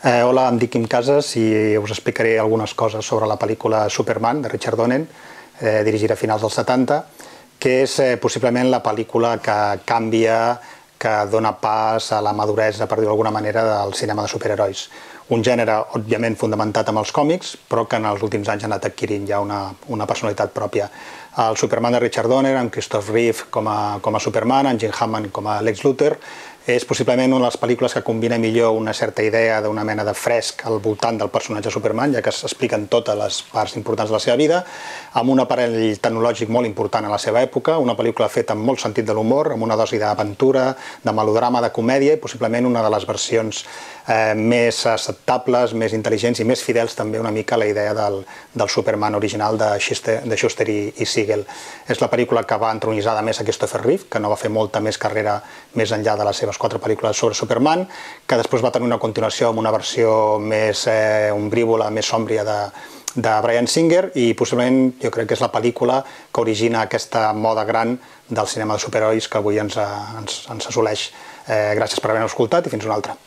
Hola, em dic Quim Casas i us explicaré algunes coses sobre la pel·lícula Superman, de Richard Donner, dirigida a finals dels 70, que és possiblement la pel·lícula que canvia, que dona pas a la maduresa, per dir-ho d'alguna manera, del cinema de superherois. Un gènere, òbviament, fundamentat amb els còmics, però que en els últims anys ha anat adquirint ja una personalitat pròpia. El Superman de Richard Donner, amb Christopher Reeve com a Superman, amb Jim Hammond com a Lex Luthor, és possiblement una de les pel·lícules que combina millor una certa idea d'una mena de fresc al voltant del personatge Superman, ja que s'expliquen totes les parts importants de la seva vida, amb un aparell tecnològic molt important a la seva època, una pel·lícula feta amb molt sentit de l'humor, amb una dosi d'aventura, de melodrama, de comèdia, i possiblement una de les versions més acceptables, més intel·ligents i més fidels també una mica a la idea del Superman original de Shuster i Siegel. És la pel·lícula que va entronitzar a més a Christopher Reeve, que no va fer molta més carrera més enllà de les seves 4 pel·lícules sobre Superman, que després va tenir una continuació amb una versió més ombrívola, més sòmbria de Bryan Singer, i possiblement jo crec que és la pel·lícula que origina aquesta moda gran del cinema de superherois que avui ens assoleix. Gràcies per haver-nos escoltat i fins una altra.